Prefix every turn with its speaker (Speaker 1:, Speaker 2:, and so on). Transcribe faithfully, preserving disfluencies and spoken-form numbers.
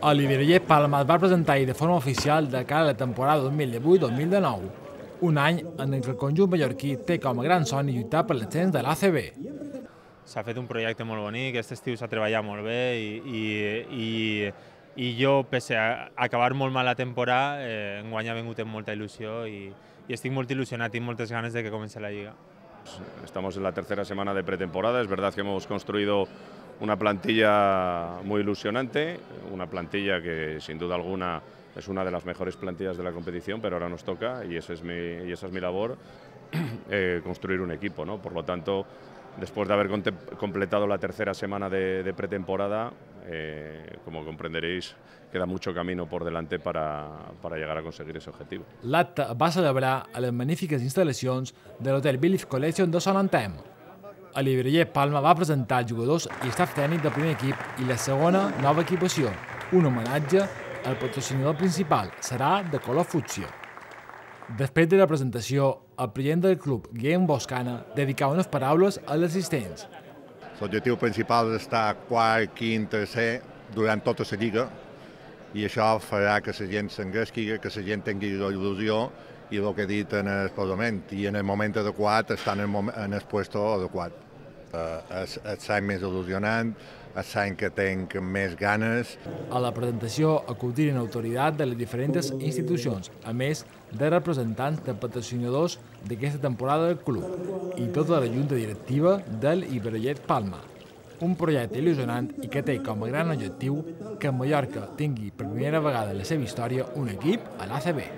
Speaker 1: Oliver Palma es va presentar ahir de forma oficial de cara a la temporada dos mil divuit dos mil dinou, un any en què el conjunt mallorquí té com a gran somni lluitar per l'ascens de l'A C B.
Speaker 2: S'ha fet un projecte molt bonic, aquest estiu s'ha treballat molt bé i, i, i, i jo, pese a acabar molt mal la temporada, eh, enguany ha vingut amb molta il·lusió i, i estic molt il·lusionat, tinc moltes ganes de que comenci la Lliga.
Speaker 3: Estamos en la tercera semana de pretemporada, es verdad que hemos construido una plantilla muy ilusionante, una plantilla que sin duda alguna es una de las mejores plantillas de la competición, pero ahora nos toca, y, ese es mi, y esa es mi labor, eh, construir un equipo, ¿no? Por lo tanto, después de haber completado la tercera semana de, de pretemporada, eh, como comprenderéis, queda mucho camino por delante para, para llegar a conseguir ese objetivo.
Speaker 1: L'acte va celebrar a les magnífiques instal·lacions de l'hotel Village Collection de Son Anthem. Oliver Palma va presentar els jugadors i staff tècnic del primer equip i la segona nova equipació, un homenatge al patrocinador principal, serà de color fúcsia. Després de la presentació, el president del club, Guillem Boscana, dedicava unes paraules als assistents.
Speaker 4: L'objectiu principal és estar quart, quint, tercer durant tota la lliga i això farà que la gent s'engresqui, que la gent tingui la il·lusió i el que he dit en el parlament, i en el moment adequat estar en el, moment, en el puesto adequat. Uh, és l'any més il·lusionant, és l'any que tinc més ganes.
Speaker 1: A la presentació acudiren autoritats de les diferents institucions, a més de representants de patrocinadors d'aquesta temporada del club i tota la junta directiva del Iberollet Palma. Un projecte il·lusionant i que té com a gran objectiu que Mallorca tingui per primera vegada en la seva història un equip a l'A C B.